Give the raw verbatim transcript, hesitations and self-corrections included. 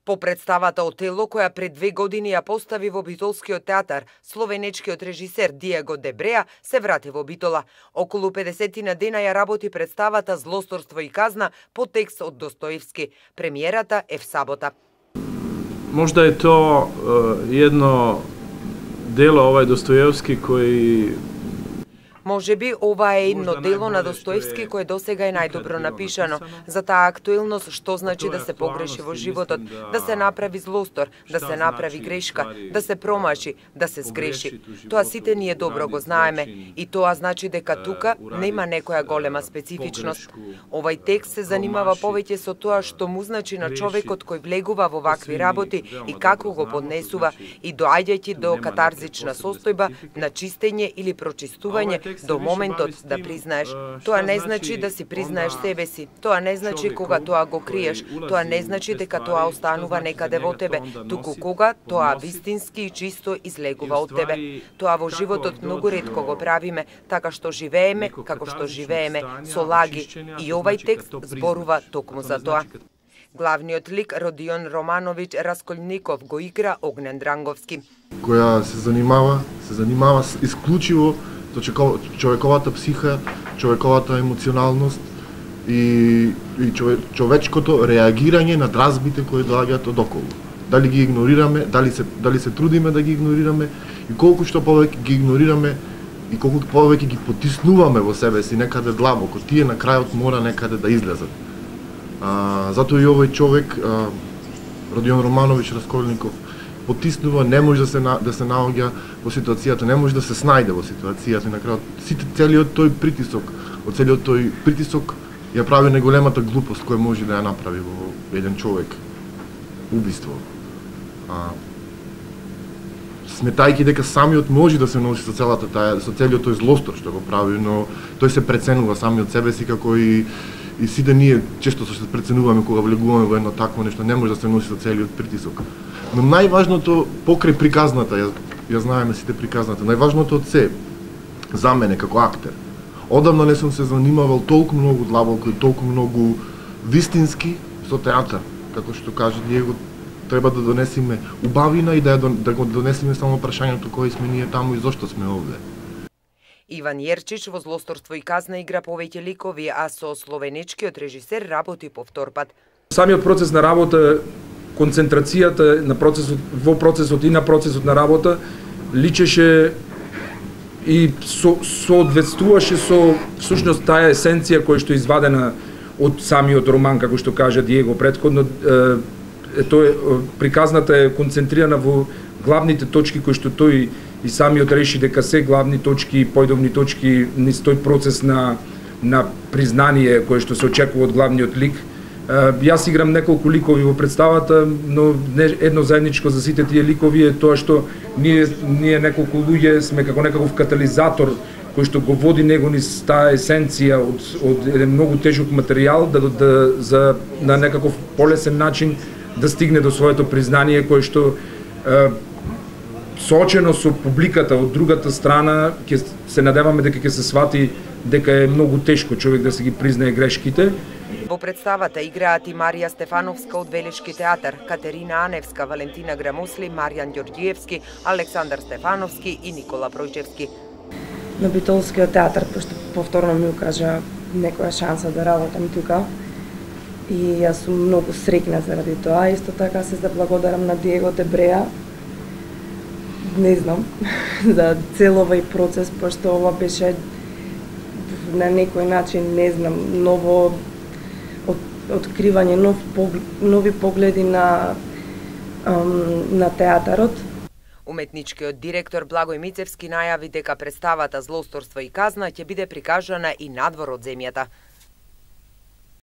По представата Отело, која пред две години ја постави во Битолскиот театар, словенечкиот режисер Диего де Бреа се врати во Битола. Околу педесетина дена ја работи представата Злосторство и казна по текст од Достоевски. Премиерата е в сабота. Možda je to uh, jedno delo ovaj Dostojevski koji Може би ова е едно дело на Достоевски кое досега е најдобро напишано за таа актуелност, што значи да се погреши во животот, да се направи злостор, да се направи грешка, да се промаши, да се сгреши. Тоа сите ние добро го знаеме и тоа значи дека тука нема некоја голема специфичност. Овај текст се занимава повеќе со тоа што му значи на човекот кој влегува во вакви работи и како го поднесува и доаѓајќи до катарзична состојба на чистење или прочистување до моментот да признаеш. Тоа не значи да си признаеш себе си. Тоа не значи кога тоа го криеш. Тоа не значи дека тоа останува некаде во тебе, туку кога тоа вистински и чисто излегува од тебе. Тоа во животот многу ретко го правиме, така што живееме како што живееме, со лаги. И овај текст зборува токму за тоа. Главниот лик Родион Романович Расколников го игра Огнен Дранговски, која се занимава, се занимава исклучиво со човековата психа, човековата емоционалност и, и чове, човечкото реагирање на дразбите кои доаѓаат од околу. Дали ги игнорираме, дали се, дали се трудиме да ги игнорираме и колку што повеќе ги игнорираме и колку повеќе ги потиснуваме во себе си некаде длабоко, тие на крајот мора некаде да излезат. А, затоа и овој човек, а, Родион Романович Расколников, потиснува, не може да се да се наоѓа во ситуацијата, не може да се снајде во ситуацијата и на крајот сите целиот тој притисок, од целиот тој притисок ја прави најголемата глупост која може да ја направи во еден човек. Убиство. А, сметајќи дека самиот може да се носи со целата таа, со целиот тој злостор што го прави, но тој се преценува самиот себе си како и и сите ние често се преценуваме кога влегуваме во едно такво нешто, не може да се носи со целиот притисок. Но најважното покрај приказната, ја, ја знаеме сите приказната, најважното од се за мене како актер. Одамна не сум се занимавал толку многу длабоко и толку многу вистински со театар, како што каже Диего, треба да донесеме убавина и да, да го донесеме само прашањето кои сме ние таму и зошто сме овде. Иван Јерчич во Злосторство и казна игра повеќе ликови, а со словенечкиот режисер работи по втор пат. Самиот процес на работа, концентрацијата на процесот, во процесот и на процесот на работа личеше и со, соодветствуваше со всушност таа есенција која што е извадена од самиот роман, како што кажа Диего претходно. Е, тоа приказната е концентрирана во главните точки кои што тој и самиот реши дека се главни точки, појдовни точки низ тој процес на на признание кое што се очекува од главниот лик. Јас играм неколку ликови во представата, но едно заедничко за сите тие ликови е тоа што ние ние неколку луѓе сме како некаков катализатор кој што го води него низ таа есенција од од еден многу тежок материјал да, да за на некаков полесен начин да стигне до своето признание кое што е, соочено со публиката од другата страна ќе се надеваме дека ќе се свати дека е многу тешко човек да се ги признае грешките. Во представата играат и Марија Стефановска од Велешки театар, Катерина Аневска, Валентина Грамосли, Маријан Ѓорѓиевски, Александар Стефановски и Никола Пројчевски. На Битолскиот театар, пошто повторно ми укажа некоја шанса да работам тука. И јас сум многу среќна заради тоа. Исто така се заблагодарам на Диего де Бреа, не знам, за цел овој процес, пошто ова беше на некој начин, не знам, ново от, откривање, нов, нови погледи на, на театарот. Уметничкиот директор Благој Мицевски најави дека представата Злосторство и казна ќе биде прикажана и надвор од земјата.